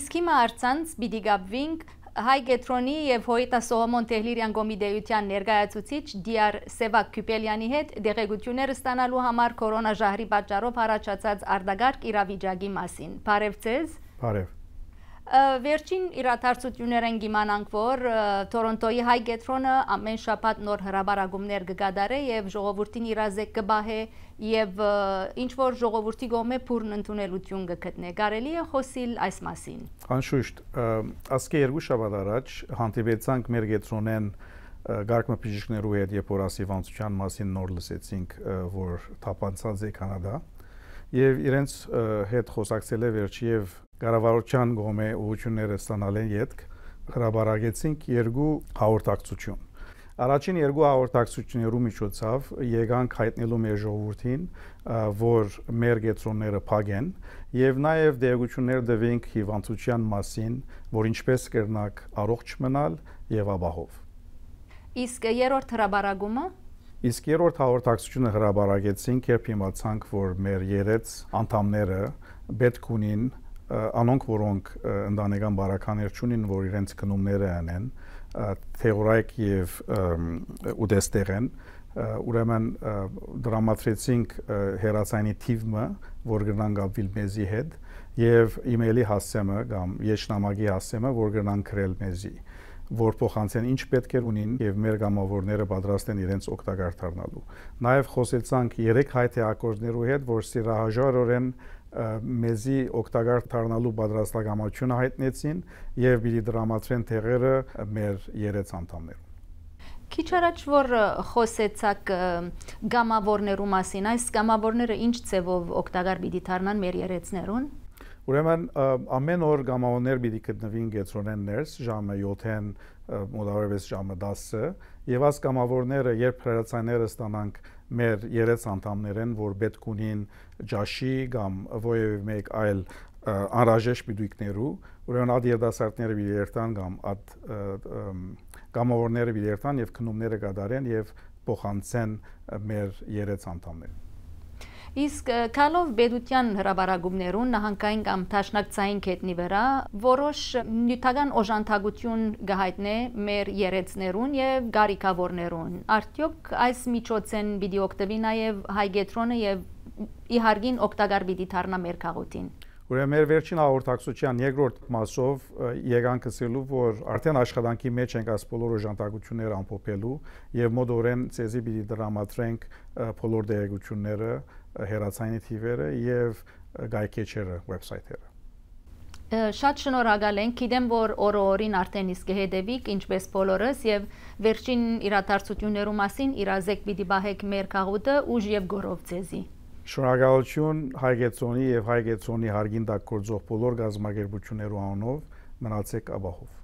Իսկ հիմա արցանց պիտի գաբվինք Հայ Գետրոնի եւ Հոյտա Սողոմոն Տեհլիրյան գոմիդեյության ներկայացուցիչ Դիար Սևակ Քյուպելյանի հետ դեղեցությունները ստանալու համար կորոնաժահրի պատճառով առաջացած արտագարկ իրավիճակի մասին։ Բարև ձեզ։ Բարև։ Վերջին իրադարձություններ են գիմանանք, որ Թորոնտոյի Հայ Գետրոնը ամեն շաբաթ նոր հրաբարագումներ կգադարե եւ ժողովրդին իրազեկ կբահե եւ ինչ որ ժողովրդի կողմէ փուրն ընդունելություն կգտնե։ Կարելի է խոսիլ այս մասին։ Անշուշտ, ասկե երկու շաբաթ առաջ հանդիպեցանք մեր Գետրոնեն գարկմապիժիկներու հետ եւ օրասիվանցության մասին նոր լսեցինք, որ թափանցած է Կանադա եւ իրենց հետ խոսակցել է վերջի եւ Կառավարության կողմէ ուղղությունները ստանալեն յետք հրաբարագեցինք երկու հաղորդակցություն։ Առաջին երկու հաղորդակցություններու միջոցով եկանք հայտնելու մեր ժողովրդին, որ մեր գետրոնները փակ են եւ նաեւ դեղեցություններ տվենք հիվանդության մասին, որ ինչպես կրնակ առողջ մնալ եւ ապահով։ Իսկ երրորդ հրաբարագումը Իսկ երրորդ հաղորդակցությունը հրաբարագեցինք, երբ իմացանք, որ մեր երեց անդամները պետք ունին անոնք որոնք ընտանեկան բարականներ չունին, որ իրենց քնումները անեն, թեորայք եւ ուտեստեր են, ուրեմն դրամատրեցինք հերացանի թիվը, որ գնան գաբվիլ մեզի հետ եւ իմեյլի հասցեմը կամ եշնամակի հասցեմը, որ գնան գրել մեզի, որ փոխանցեն ինչ պետք է ունին եւ մեր գամավորները պատրաստ են իրենց օգտակար դառնալու։ Նաեւ խոսեցանք 3 հայ թեակորներու հետ, որ սիրահաժարորեն մեզի օգտակար դառնալու պատրաստակամությունը հայտնեցին եւ պիտի դրամատրեն տեղերը մեր երեց անդամներում։ Քիչ առաջ որ խոսեցաք գամավորներու մասին, այս գամավորները ինչ ձևով օգտակար պիտի դառնան մեր երեցներուն։ Ուրեմն ամեն օր գամավորներ պիտի գտնվին Գետրոնեն ներս ժամը 7-ին մոտավորապես ժամը 10-ը եւ այս գամավորները երբ հրացանները ստանանք մեր երեց անդամներեն, որ պետք ունին ջաշի կամ ովևէ մեկ այլ անհրաժեշտ բիդույքներու, ուրեմն այդ երդասարտները պիտի երթան կամ այդ գամավորները պիտի երթան եւ քնումները կատարեն եւ փոխանցեն մեր երեց անդամներին։ Իսկ քալով բեդության հրաբարագումներուն նահանգային կամ տաշնակցային կետնի վրա որոշ նյութական օժանդակություն կհայտնե մեր երեցներուն եւ գարիկավորներուն։ Արդյոք այս միջոցեն պիտի օգտվի նաեւ Հայ Գետրոնը եւ իհարկին օգտակար պիտի դառնա մեր քաղաքին։ Ուրեմն մեր վերջին հաղորդակցության երկրորդ մասով եկանք ասելու, որ արդեն աշխատանքի մեջ ենք այս բոլոր օժանդակությունները ամփոփելու եւ մոդորեն ցեզի պիտի դրամատրենք բոլոր դեղեցությունները, հերացանի թիվերը եւ գայքեչերը, վեբսայթերը։ Շատ շնորհակալ ենք, գիտեմ, որ օրը-օրին արդեն իսկ հետևիկ, ինչպես բոլորս եւ վերջին իրադարձություններու մասին իրազեկ պիտի բահեք մեր քաղուտը ուժ եւ գորով ցեզի։ Շնորհակալություն Հայ Գետրոնի եւ Հայ Գետրոնի հարգին տակ գործող բոլոր գազམ་ագերբություններու անունով, մնացեք ապահով։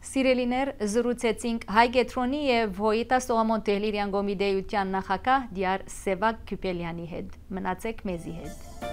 Սիրելիներ, զրուցեցինք Հայ Գետրոնի եւ Հոյտա Սողոմոն Տեհլիրյան գոմիդեյության նախագահ Դիար Սևակ Քյուպելյանի հետ։ Մնացեք մեզի հետ։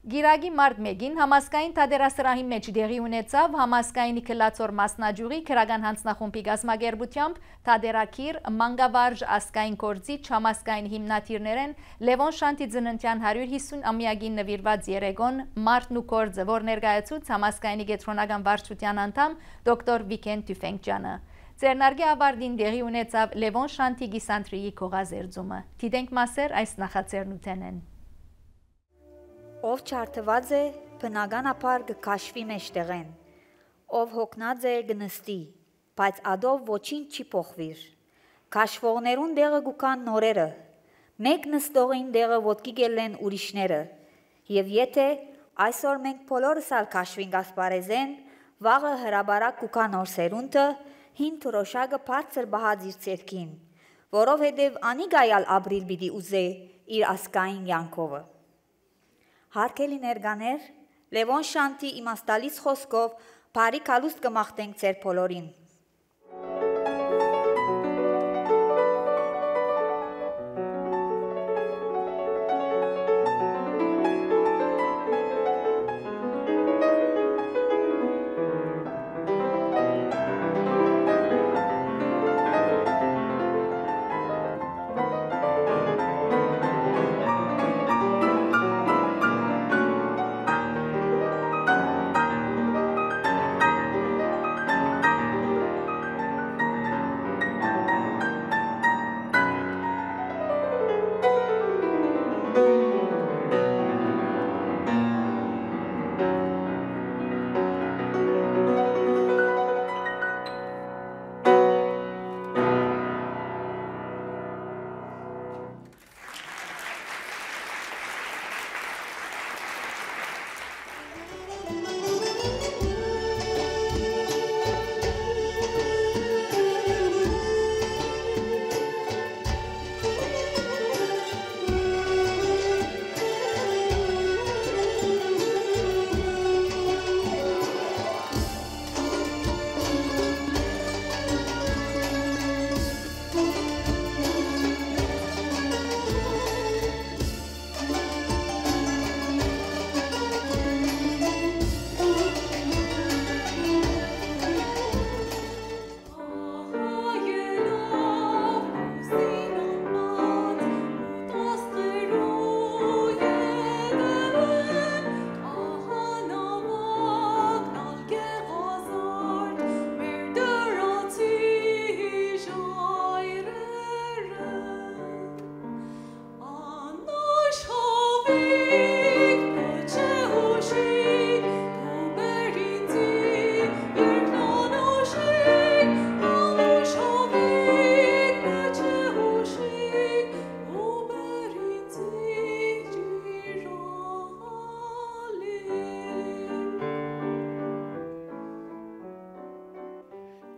Գիրագի մարտ 1-ին համասկային թադերասրահի մեջ դեղի ունեցավ համասկայնի քլացոր մասնաճյուղի քրական հանձնախումբի գազམ་ագերբությամբ թադերակիր մանգավարժ ասկային կորձիչ համասկային հիմնադիրներեն Լևոն Շանտի ծննդյան 150-ամյակին նվիրված երեգոն Մարտն ու կորձը, որ ներկայացուց համասկայնի գետրոնական վարչության անդամ դոկտոր Վիկեն Տյուֆենկյանը։ Ձեռնարկի ավարտին դեղի ունեցավ Լևոն Շանտի գիսանտրիի քողազերծումը։ Դիտենք մասեր այս նախաձեռնութենեն։ Ով չարթված է, բնականաբար կքաշվի մեջտեղեն, ով հոգնած է գնստի, բայց ադով ոչինչ չի փոխվիր։ Քաշվողներուն դեղը գուքան նորերը, մեկ նստողին դեղը ոտքի գելեն ուրիշները, եւ եթե այսօր մենք բոլորս ալ քաշվինք ասպարեզեն, վաղը հրաբարակ գուքա նոր սերունդը, հին թրոշակը բարձր բահած իր ցերքին, որովհետեւ անիգայալ ապրիլ պիտի ուզե իր ասկային յանքովը։ Հարգելի ներկաներ, Լևոն Շանտի իմաստալից խոսքով բարի կալուստ կմաղթենք ձեր բոլորին։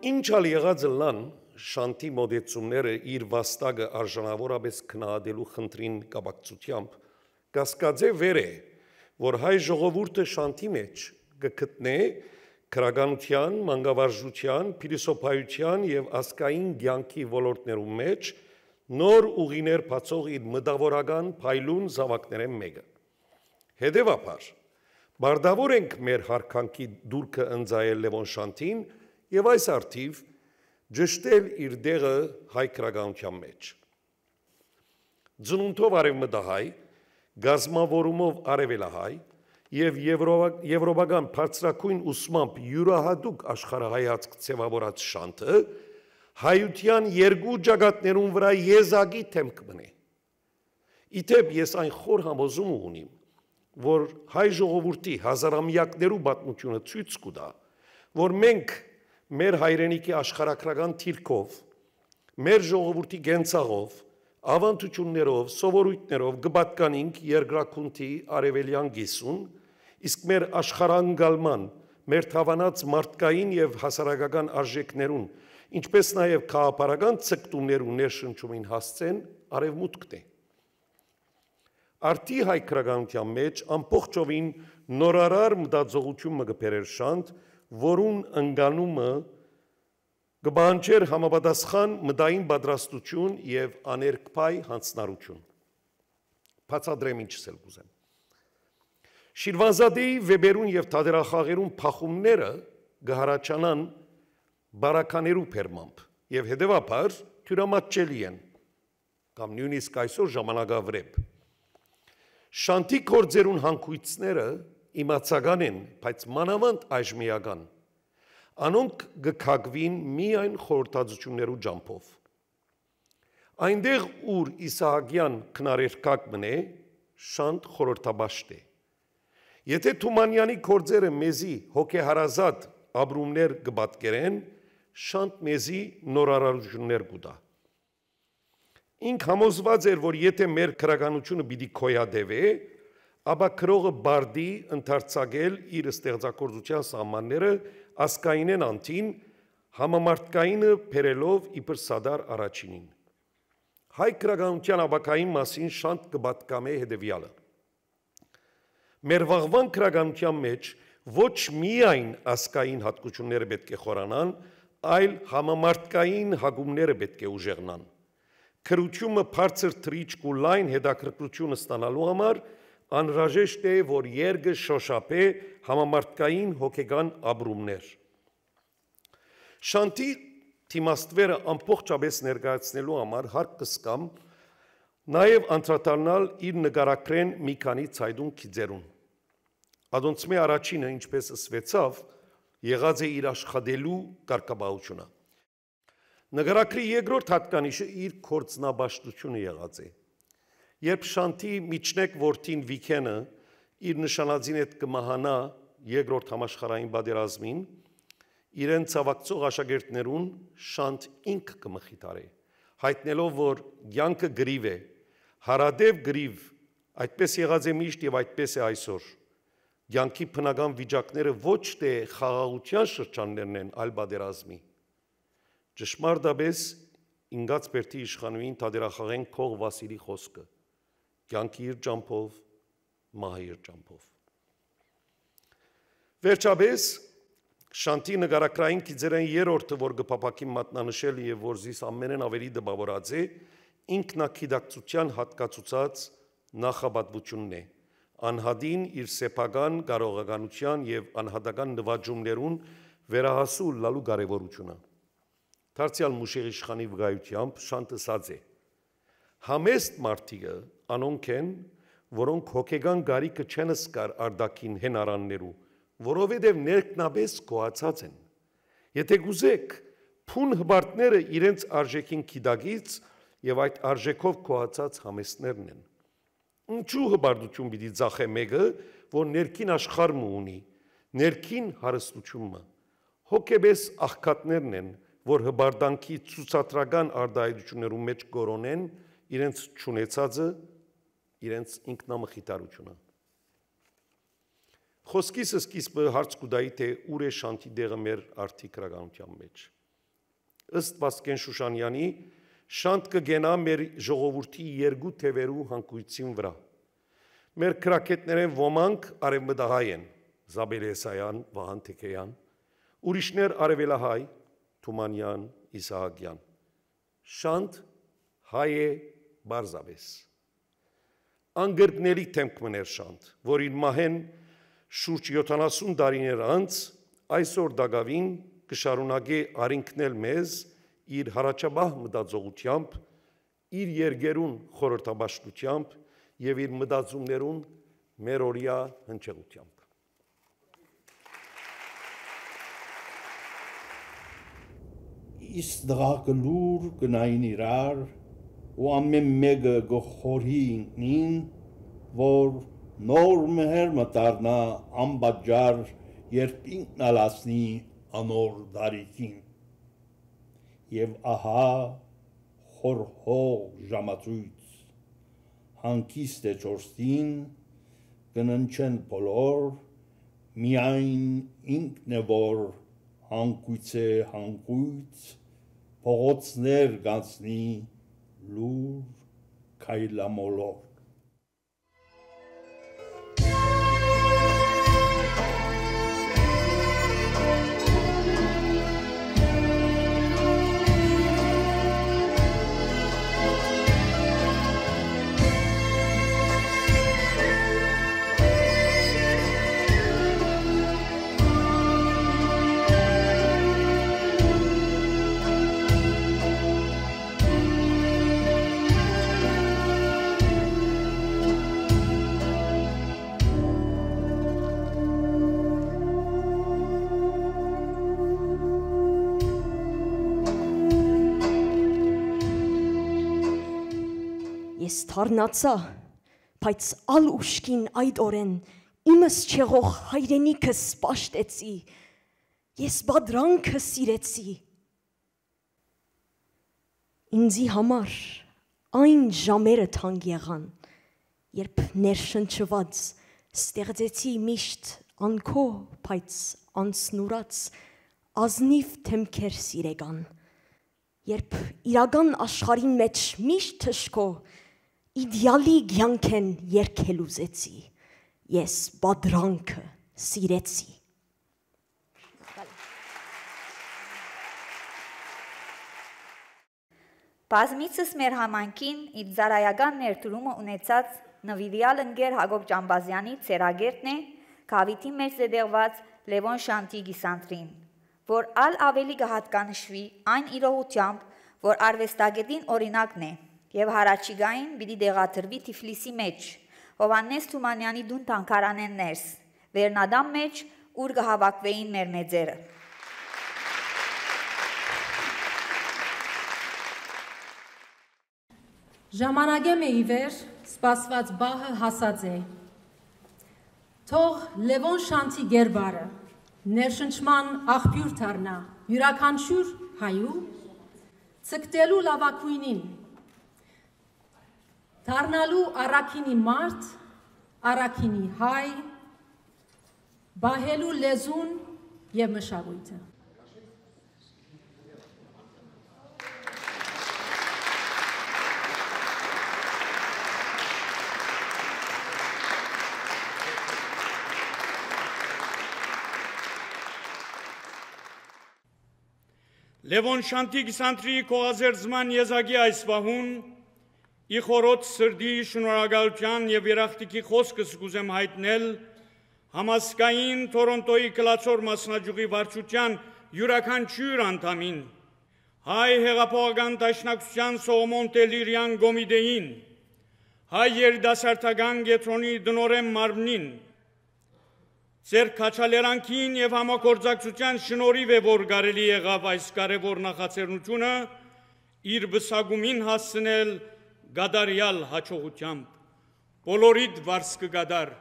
Ինչ ալ եղած լան շանտի մոդեցումները իր վաստակը արժանավորապես քննադելու խնդրին կապակցությամբ կասկածե վեր է, որ հայ ժողովուրդը շանտի մեջ կգտնե քրագանության, մանկավարժության, փիլիսոփայության եւ ազգային կյանքի ոլորտներում մեջ նոր ուղիներ բացող իր մտավորական փայլուն զավակներեն մեկը։ Հետևաբար, բարդավոր ենք մեր հարկանքի դուրքը ընձայել Լևոն Շանտին եւ այս արդիվ ճշտել իր դեղը հայ քրագանության մեջ։ Ծնունդով արևմտահայ, գազմավորումով արևելահայ եւ եվրոպական բարձրակույն ուսմամբ յուրահատուկ աշխարհայացք ձևավորած Շանտը հայության երկու ճակատներուն վրա եզակի թեմք մնե։ Իթեպ ես այն խոր համոզում ունիմ, որ հայ ժողովրդի հազարամյակներու պատմությունը ցույց կտա, որ մենք մեր հայրենիքի աշխարհակրական թիրքով, մեր ժողովրդի գենցաղով, ավանդություններով, սովորույթներով կպատկանենք երկրակունթի արևելյան գիսուն, իսկ մեր աշխարհանգալման, մեր թավանած մարդկային եւ հասարակական արժեքներուն, ինչպես նաեւ քաղաքական ցկտումներու ներշնչումին հասցեն արևմուտքն է։ Արդի հայ քրագանության մեջ ամբողջովին նորարար մտածողություն մը կբերեր Շանտ, որուն ընկալումը կբանջեր համապատասխան մտային պատրաստություն եւ աներկբայ հանձնարարություն։ Բացատրեմ ինչս էլ կուզեմ։ Շիրվանզադեի վեբերուն եւ թատերախաղերուն փախումները կհարաճանան բարականերու փերմամբ եւ հետեւաբար թյուրամատչելի են կամ նույնիսկ այսօր ժամանակավրեպ։ Շանտի կորձերուն հանգույցները իմացական են, բայց մանավանդ այժմիական։ Անոնք կքագվին միայն խորհրդածություններու ջամփով։ Այնտեղ ուր Իսահակյան քնարերկակ մնե, Շանտ խորհրդաբաշտ է։ Եթե Թումանյանի կորձերը մեզի հոգեհարազատ ապրումներ կպատկերեն, Շանտ մեզի նորարարություններ կուտա։ Ինք համոզված էր, որ եթե մեր քրագանությունը պիտի քոյադևե, ապա քրողը բարդի ընդարձակել իր ստեղծագործության սահմանները ասկայինեն անտին, համամարտկայինը բերելով իբր Սադար առաջինին։ Հայ քրագանության ապակային մասին Շանտ կպատկամե հետևյալը։ Մեր վաղվան քրագանության մեջ ոչ միայն ասկային հատկությունները պետք է խորանան, այլ համամարտկային հագումները պետք է ուժեղնան։ Քրությունը բարձր թրիչք ու լայն հետաքրքրությունը ստանալու համար անհրաժեշտ է, որ երգը շոշափե համամարտկային հոգեգան ապրումներ։ Շանտի թիմաստվերը ամբողջապես ներկայացնելու համար հարկ կսկամ նաև անդրադառնալ իր նկարագրեն մի քանի ցայդուն քիծերուն։ Ադոնցմե առաջինը, ինչպես ասվեցավ, եղած է իր աշխատելու կարգապահությունը։ Նկարագրի երկրորդ հատկանիշը իր կորձնաբաշխությունը եղած է։ Երբ Շանտի միջնեկ որդին Վիքենը իր նշանածին հետ կմահանա երկրորդ համաշխարհային պատերազմին, իրեն ցավակցող աշակերտներուն Շանտ ինքը կմխիթարե, հայտնելով, որ կյանքը գրիվ է, հարադև գրիվ, այդպես եղած է միշտ եւ այդպես է այսօր։ Կյանքի բնական վիճակները ոչ թե խաղաղության շրջաններն են, այլ պատերազմի։ Ճշմարտապես ինգած բերդի իշխանուին թադերախաղեն քող Վասիլի խոսքը։ Կյանքի իր ճամփով, մահի իր ճամփով։ Վերջապես Շանտի նկարագրային քիծերեն երրորդը, որ գփապակի մատնանշել եւ որ զիս ամենեն ավելի դպավորած է, ինքնակիդակցության հատկացուցած նախապատվությունն է։ Անհադին իր սեփական կարողականության եւ անհատական նվաճումներուն վերահասու լալու կարևորությունը։ Դարձյալ Մուշեղի իշխանի վկայությամբ Շանտը ասած է. համեստ մարդիկը անոնք են, որոնք հոգեգան գարիկը չեն սկար արդակին հենարաններու, որովհետև ներքնաբես գոհացած են։ Եթե գուզեք, փուն հբարտները իրենց արժեքին քիդագից եւ այդ արժեքով գոհացած համեստներն են։ Ինչու հբարտություն պիտի ծախե մեկը, որ ներքին աշխարհը ունի, ներքին հարստությունը։ Հոգեբես աղքատներն են, որ հբարտանքի ցուցադրական արդայություններում մեջ կորոնեն իրենց ճունեցածը, իրենց ինքնամխիթարությունը։ Խոսքիս սկիզբը հարց կուտայի, թե ուր է Շանտի դեղը մեր արդի քրագանության մեջ։ ըստ Վասկեն Շուշանյանի, շանտ կգենա մեր ժողովրդի երկու թևերու հանգույցին վրա։ Մեր քրակետներեն ոմանք արևմտահայ են, Զաբել Եսայան, Վահան Թեքեյան, ուրիշներ արևելահայ, Թումանյան, Իսահակյան։ Շանտ հայ է բարձավես։ Անգրկների թեմք մներ շանտ, որին մահեն շուրջ 70 տարիներ անց այսօր դագավին կշարունակե արինքնել մեզ իր հարաճաբահ մտածողությամբ, իր երգերուն խորհրդաբաշխությամբ եւ իր մտածումներուն մերօրյա հնչեղությամբ։ Իսկ դղակը լուր գնային իրար ու ամեն մեկը գխորի ինքնին, որ նոր մհեր մտարնա անբաջար, երբ ինքն ալասնի անոր դարիքին։ Եվ ահա խորհող ժամացույց, հանկիստ է չորստին, կննչեն բոլոր, միայն ինքն է, որ հանկույց է հանկույց, փողոցներ գանցնի լուր քայլամոլոր։ Ես թարնացա, բայց ալ ուշքին այդ օրեն իմս չեղող հայրենիքս պաշտեցի, ես բադրանքը սիրեցի։ Ինձի համար այն ժամերը թանկ եղան, երբ ներշնչված ստեղծեցի միշտ անքո, բայց անցնուրած ազնիվ թեմքեր սիրեգան, երբ իրական աշխարհին մեջ միշտ թշկո իդեալի կյանքեն երգել ուզեցի, ես բադրանքը սիրեցի։ Բազմիցս մեր համանքին իր զարայական ներդրումը ունեցած նվիրյալ ընկեր Հակոբ Ջամբազյանի ծերագերտն է գավիթի մեջ զետեղված Լևոն Շանտի գիսանտրին, որ ալ ավելի կհատկանշվի այն իրողությամբ, որ արվեստագետին օրինակն է եւ հարաճիգային պիտի դեղաթրվի Թիֆլիսի մեջ, Հովհաննես Թումանյանի դուն թանգարանեն ներս, Վերնադամ մեջ, ուր կհավաքվեին մեր մեծերը։ Ժամանակեմ է իվեր, սպասված բահը հասած է։ Թող Լևոն Շանտի գերբարը, ներշնչման աղբյուր թարնա, յուրաքանչյուր հայու, ցկտելու լավակույնին, թարնալու առաքինի մարդ, առաքինի հայ, բահելու լեզուն և մշակույթը։ Լևոն Շանտի գիսանտրի կողազերծման եզակի այս վահուն ի խորոց սրդի շնորհակալության և երախտիկի խոսքս կուզեմ հայտնել համազգային Թորոնտոյի կլացոր մասնաճյուղի վարչության յուրաքանչյուր անդամին, հայ հեղափոխական դաշնակցության Սողոմոն Տելիրյան Գոմիդեին, հայ երիտասարդական կենտրոնի դնորեն մարմնին, ձեր քաչալերանքին և համագործակցության շնորհիվ է, որ կարելի եղավ այս կարևոր նախաձեռնությունը իր բսակումին հասցնել գադարյալ հաջողությամբ, բոլորիդ վարձ կգադար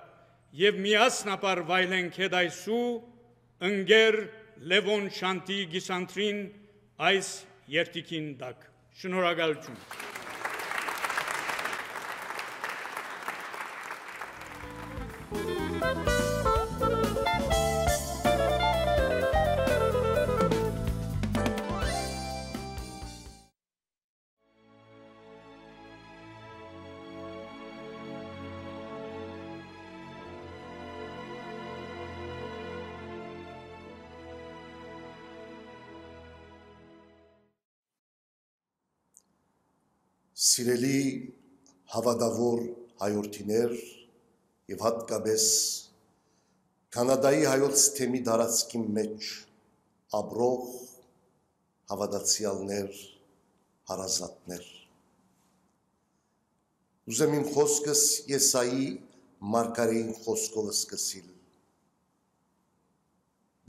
և միասնապար վայելենք հետ այսու ընկեր Լևոն Շանտի գիսանտրին այս երդիկին տակ։ Շնորհակալություն։ Սիրելի հավատավոր հայորդիներ եւ հատկապես Կանադայի հայոց թեմի դարածքի մեջ ապրող հավատացյալներ, հարազատներ։ Ուզեմ իմ խոսքս Եսայի մարգարեին խոսքով սկսել։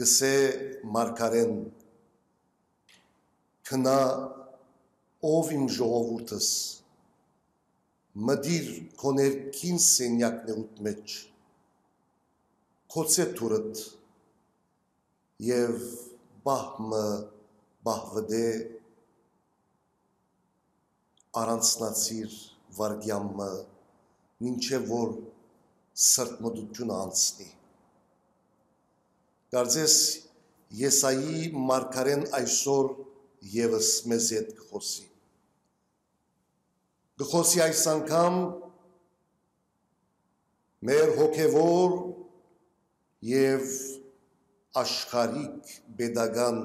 Գսե մարգարեն քնա ով իմ ժողովուրդս մդիր քո ներքին սենյակներուդ մեջ քոցե թուրդ եւ բահմը բահվդե առանցնացիր վարգյամը մինչև որ սրտմտությունը անցնի։ Կարծես Եսայի մարգարեն այսօր եւս մեզ հետ կխոսի։ Կխոսի այս անգամ մեր հոգևոր եւ աշխարհիկ pedagogan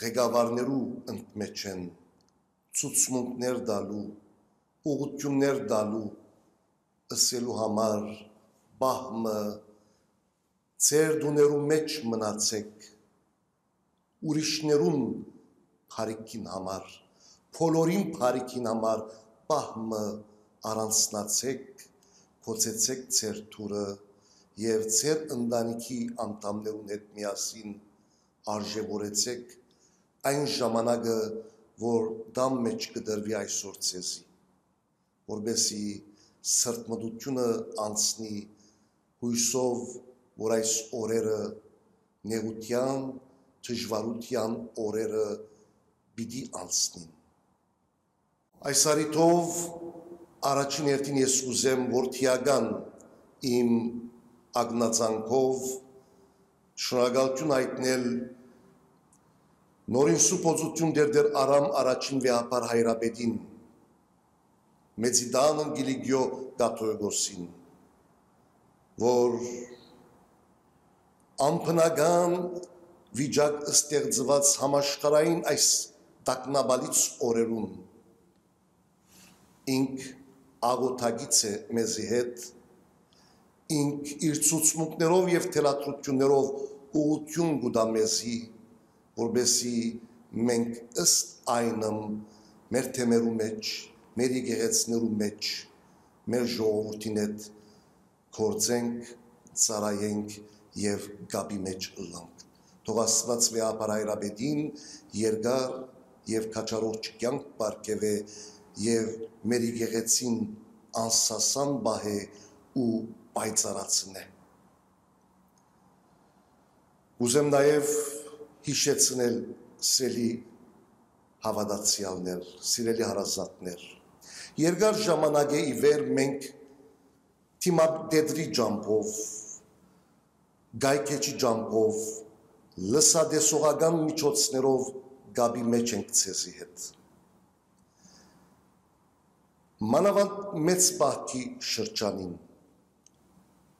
ղեկավարներու ընդմեջ են ցուցմունքներ դալու, ուղղություններ դալու, ըսելու համար բահմը ձեր դուներու մեջ մնացեք, ուրիշներուն փարիքին համար, բոլորին փարիքին համար բահմը առանցնացեք, կոծեցեք ձեր թուրը եւ ձեր ընտանիքի անդամներուն հետ միասին արժևորեցեք այն ժամանակը, որ դամ մեջ կդրվի այսօր ցեզի, որբեսի սրտմտությունը անցնի հույսով, որ այս օրերը նեղության, դժվարության օրերը պիտի անցնին։ Այս առիթով առաջին հերթին ես ուզեմ որդիական իմ ագնացանքով շնորհակալություն հայտնել նորին սուպոզություն դեր արամ առաջին վեհապար հայրապետին Մեծիդան Գիլիգիո Կաթողիկոսին, որ ամփնական վիճակ ստեղծված համաշխարհային այս տագնապալից օրերուն ինք աղոթագից է մեզի հետ, ինք իր ցուցմունքներով եւ թելադրություններով ուղղություն կտա մեզի, որբեսի մենք ըստ այնմ մեր թեմերու մեջ, մեր եկեղեցներու մեջ, մեր ժողովրդին հետ գործենք, ծառայենք եւ գաբի մեջ ըլլանք։ Թող Աստված վեհապար հայրապետին երկար եւ քաջարող կյանք բարգեւե եւ մեր եկեղեցին անսասան բահե ու պայծառացնե։ Ուզեմ նաեւ հիշեցնել սիրելի հավատացյալներ, սիրելի հարազատներ։ Երկար ժամանակ է ի վեր մենք թիմապետրի ջամփով, գայքեչի ջամփով, լսադեսողական միջոցներով գաբի մեջ ենք ցեզի հետ։ Մանավանդ մեծ բախտի շրջանին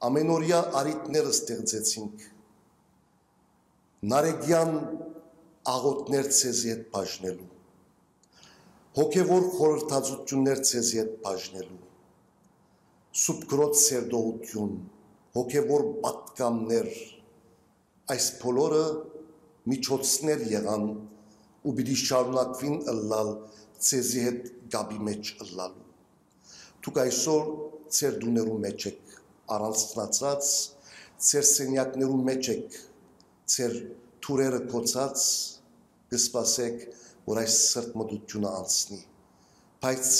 ամենօրյա արիտներ ստեղծեցինք, նարեգյան աղոթներ ցեզի հետ բաժնելու, հոգևոր խորհրդածություններ ցեզի հետ բաժնելու, սուբկրոտ սերդողություն, հոգևոր պատկամներ, այս բոլորը միջոցներ եղան ու պիտի շարունակվին ըլլալ ցեզի հետ գաբի մեջ ըլլալու։ Դուք այսօր ձեր դուներու մեջ եք առանցնացած, ձեր սենյակներու մեջ եք, ձեր թուրերը կոծած, կսպասեք, որ այս սրտմտությունը անցնի, բայց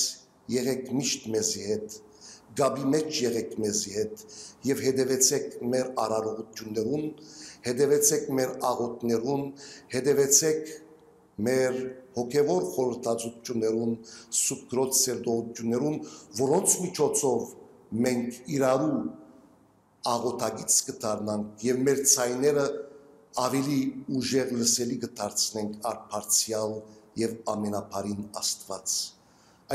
եղեք միշտ մեզի հետ, գաբի մեջ եղեք մեզի հետ եւ հետևեցեք մեր արարողություններուն, հետևեցեք մեր աղոթներուն, հետևեցեք մեր հոգևոր խորհրդածություններուն, սուբկրոտ սերդողություններուն, որոնց միջոցով մենք իրարու աղոթագից կդառնանք եւ մեր ցայները ավելի ուժեղ լսելի կդարձնենք արփարցյալ եւ ամենափարին Աստված։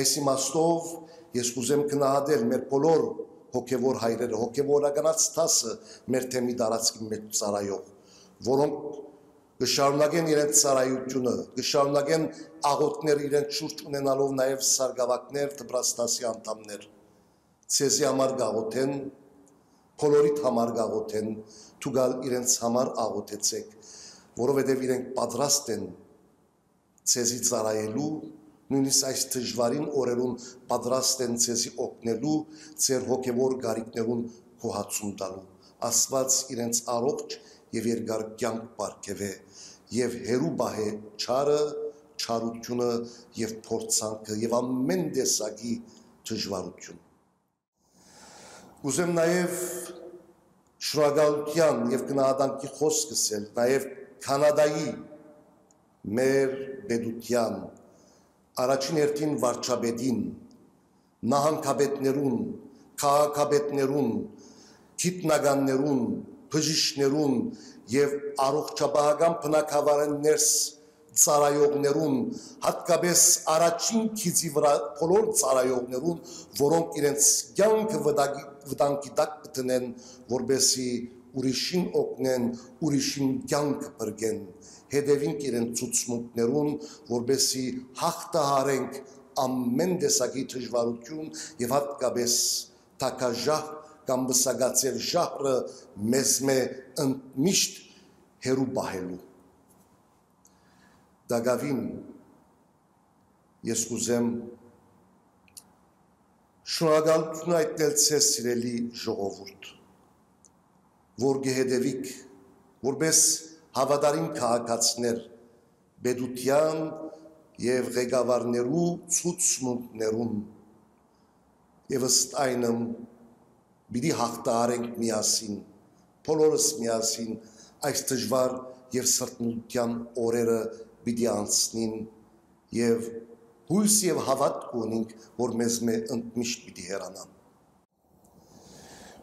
Այս իմաստով ես կուզեմ գնահատել մեր բոլոր հոգևոր հայրերը, հոգևորականած տասը մեր թեմի դարածքի մեջ ծառայող, որոնք կշարունակեն իրենց ծառայությունը, կշարունակեն աղոթքներ իրենց շուրջ ունենալով նաև սարգսակներ, դպրաստասի անդամներ։ Ցեզի համար գաղոթեն, բոլորիդ համար գաղոթեն, թուգալ իրենց համար աղոթեցեք, որովհետև իրենք պատրաստ են ցեզի ծառայելու, նույնիսկ այս դժվարին օրերուն պատրաստ են ցեզի օգնելու, ձեր հոգևոր գարիքներուն հոհացում տալու։ Աստված իրենց առողջ եւ երկար կյանք բարգեւե եւ հերու բահե չարը, չարությունը եւ փորձանքը եւ ամեն տեսակի դժվարություն։ Ուզեմ նաեւ շնորհակալության եւ գնահատանքի խոսք ասել նաեւ Կանադայի մեր պետության առաջին հերթին վարչապետին, նահանգապետներուն, քաղաքապետներուն, գիտնականներուն, բժիշկներուն եւ առողջապահական բնակավարներս ծառայողներուն, հատկապես առաջին քիծի վրա բոլոր ծառայողներուն, որոնք իրենց կյանքը վտանգի տակ կտնեն, որբեսի ուրիշին օգնեն, ուրիշին կյանքը բրգեն, հետևենք իրենց ցուցմունքներուն, որբեսի հաղթահարենք ամեն տեսակի դժվարություն եւ հատկապես տակաժահ կամ բսագացել ժահրը մեզ միշտ հերու բահելու։ Դագավին ես կուզեմ շնորհակալություն այտնել ցեզ սիրելի ժողովուրդ, որ գեհդեվիկ, որպես հավատարիմ քաղաքացիներ, պետության եւ ղեկավարներու ցուցմունքներուն եւ ըստ այնմ պիտի հաղթահարենք միասին, բոլորս միասին այս դժվար եւ սրտմունքյան օրերը պիտի անցնին եւ հույս եւ հավատք ունենք, որ մեզ ընդմիշտ պիտի հեռանան։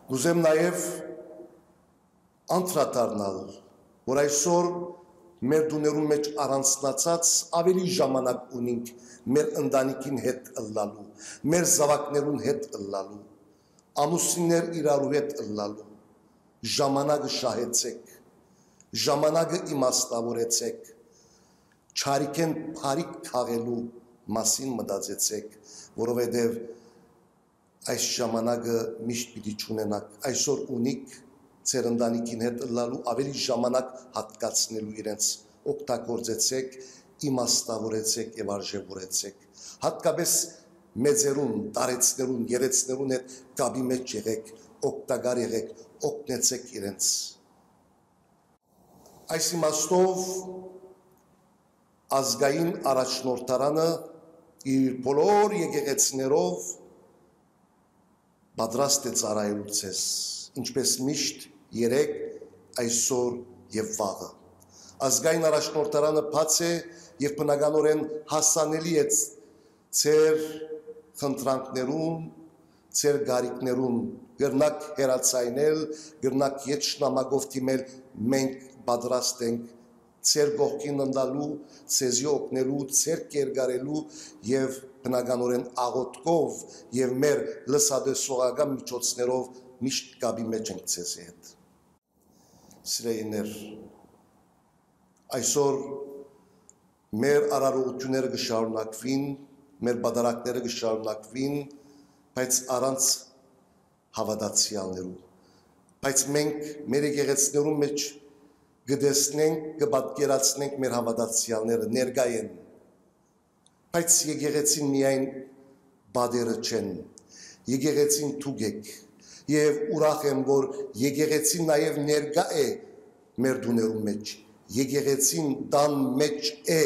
Կուզեմ նաեւ անդրադառնալ, որ այսօր մեր դուներուն մեջ առանձնացած ավելի ժամանակ ունենք մեր ընտանիքին հետ ըլլալու, մեր զավակներուն հետ ըլլալու, ամուսիններ իրարու հետ ըլլալու, ժամանակը շահեցեք, ժամանակը իմաստավորեցեք, չարիքեն փարիք քաղելու մասին մտածեցեք, որովհետև այս ժամանակը միշտ պիտի չունենաք, այսօր ունիք ձեր ընտանիքին հետ ըլլալու ավելի ժամանակ հատկացնելու իրենց օգտագործեցեք, իմաստավորեցեք եւ արժևորեցեք, հատկապես մեծերուն, տարեցներուն, երեցներուն հետ կապի մեջ եղեք, օգտակար եղեք, օգնեցեք իրենց։ Այս իմաստով ազգային առաջնորդարանը իր բոլոր եկեղեցիներով պատրաստ է ծառայելու ձեզ, ինչպես միշտ երեք, այսօր եւ վաղը։ Ազգային առաջնորդարանը բաց է եւ բնականորեն հասանելի է ձեր խնդրանքներուն, ձեր գարիքներուն, գրնակ հերացայնել, գրնակ ետ շնամագով մենք պատրաստ ենք ձեր գողքին ընդալու, ձեզի օգնելու, ձեր կերգարելու եւ բնականորեն աղոթքով եւ մեր լսադեսողական միջոցներով միշտ կապի մեջ ենք ձեզի հետ։ Սիրելիներ, այսօր մեր արարողությունները կշարունակվին, մեր բادرակները կշարունակվին, բայց առանց հավատացյալներու։ Բայց մենք մեր եկեղեցիներում մեջ գտեսնենք, կպատկերացնենք մեր հավատացյալները, ներկա են, բայց եկեղեցին միայն բادرը չեն, եկեղեցին թուգեք, եւ ուրախ եմ, որ եկեղեցին նաեւ ներկա է մեր դուներում մեջ, եկեղեցին տան մեջ է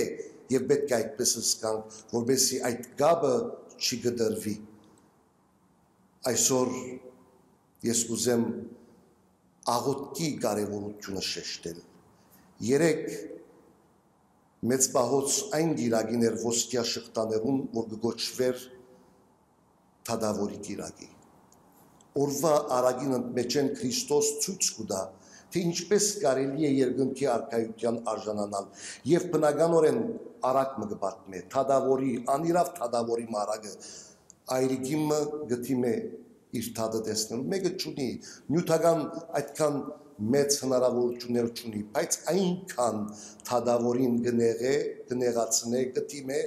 եւ պետք է այդպես զգանք, որովհետեւ այդ գաբը չգդրվի։ Այսօր ես կուզեմ աղոթքի կարևորությունը շեշտել։ Երեք մեծ պահոց այն գիրագիներ ոսկյա շղթաներուն, որ կգոչվեր թադավորի գիրագի։ Օրվա արագին մեջ են Քրիստոս ցույց կտա, թե ինչպես կարելի է երկնքի արքայության արժանանալ եւ բնականորեն արագ մը կպատմե թադավորի, անիրավ թադավորի մարագը այրիկիմը գտիմ է իր թադը տեսնելու, մեկը չունի, նյութական այդքան մեծ հնարավորություններ չունի, բայց այնքան թադավորին կնեղացնե, կտիմե,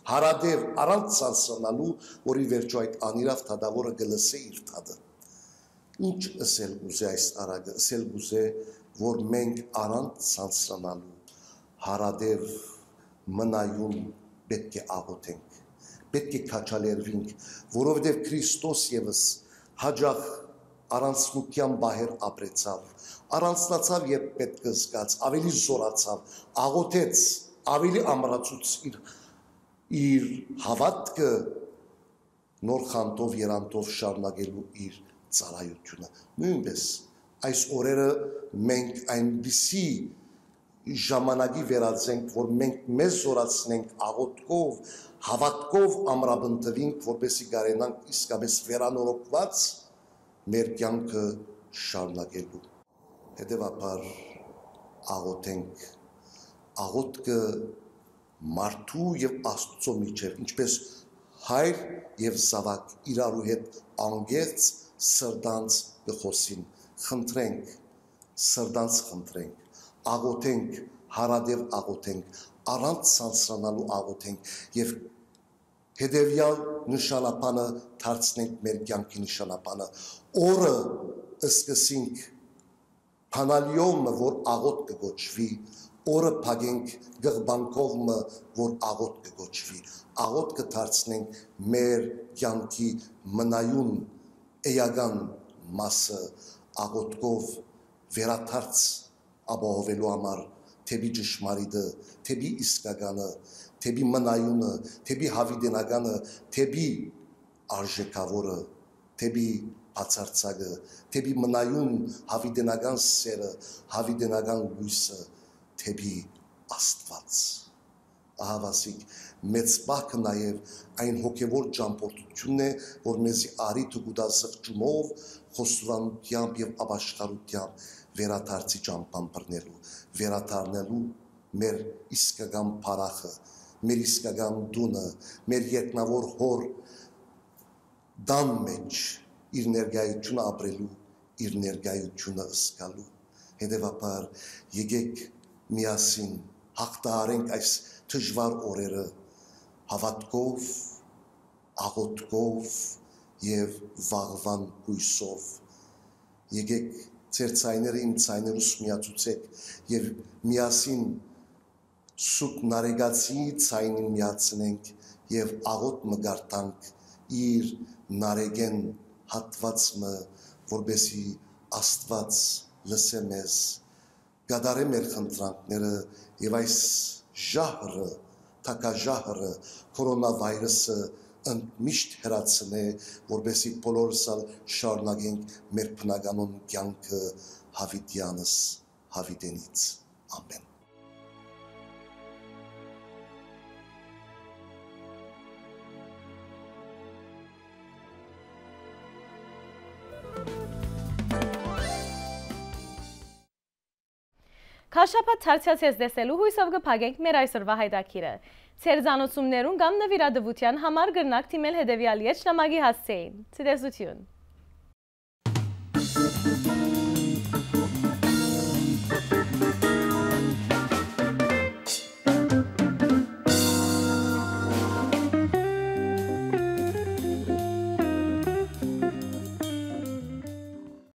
հարադև առանց սանսանալու, որի վերջո այդ անիրավ թադավորը գլսե իր թադը։ Ինչ ասել գուզե այս արագը, ասել գուզե, որ մենք առանց սանսանալու, հարադև մնայուն պետք է աղոթենք, պետք է քաչալերվենք, որովհետև Քրիստոս ևս հաջող առանցնության բահեր ապրեցավ, առանցնացավ երբ պետք զգաց, ավելի զորացավ, աղոթեց, ավելի ամրացուց իր հավատքը նոր խանդով, երանտով շարունակելու իր ծառայությունը։ Նույնպես այս օրերը մենք այնպիսի ժամանակի վերածենք, որ մենք մեզ զորացնենք աղոթքով, հավատքով ամրապնդվենք, որպեսզի կարենանք իսկապես վերանորոգված մեր կյանքը շարունակելու։ Հետևաբար աղոթենք, աղոթքը մարդու եւ Աստծո միջև, ինչպես հայր եւ զավակ իրարու հետ անգերց սրտանց գխոսին, խնդրենք, սրտանց խնդրենք, աղոթենք, հարադև աղոթենք, առանց սանսրանալու աղոթենք եւ հետևյալ նշանապանը դարձնենք մեր կյանքի նշանապանը, օրը սկսենք փանալիոմը, որ աղոթ կգոչվի, օրը փագենք գղբանքովը, որ աղոթ կգոչվի, աղոթ կդարձնենք մեր կյանքի մնայուն էական մասը, աղոթքով վերաթարց ապահովելու համար, թեպի ճշմարիտը, թեպի իսկականը, թեպի մնայունը, թեպի հավիտենականը, թեպի արժեքավորը, թեպի բացարձակը, թեպի մնայուն հավիտենական սերը, հավիտենական լույսը, թեպի Աստված։ Ահավասիկ, մեծ բակը նաև այն հոգևոր ճամփորդությունն է, որ մեզի արի թուգուտա սղճումով, խոստովանությամբ եւ ապաշխարությամբ վերաթարցի ճամփան բռնելու, վերաթարնելու մեր իսկական փառախը, մեր իսկական դունը, մեր երկնավոր հոր դան մեջ իր ներգայությունը ապրելու, իր ներգայությունը զգալու։ Հետևաբար եկեք միասին հաղթահարենք այս դժվար օրերը հավատքով, աղոթքով եւ վաղվան հույսով։ Եկեք ձեր ցայները իմ ցայներուս միացուցեք եւ միասին սուտ նարեգացի ցայնին միացնենք եւ աղոթ մգարտանք իր նարեգեն հատվածը, որբեսի Աստված լսե մեզ, գադարե մեր խնդրանքները եւ այս ժահրը, թակաժահրը, կորոնավիրուսը միշտ հրացնե, որբեսի բոլորս շարունակենք մեր բնականոն կյանքը հավիտյանս հավիտենից։ Ամեն։ Քաշապատ թարցյացես դեսելու հույսով գպագենք մեր այսօրվա հայդակիրը։ Ձեր զանոցումներուն կամ նվիրադվության համար գրնակ թիմել հետևյալ ետ շնամագի հասցեին։ Ցտեսություն։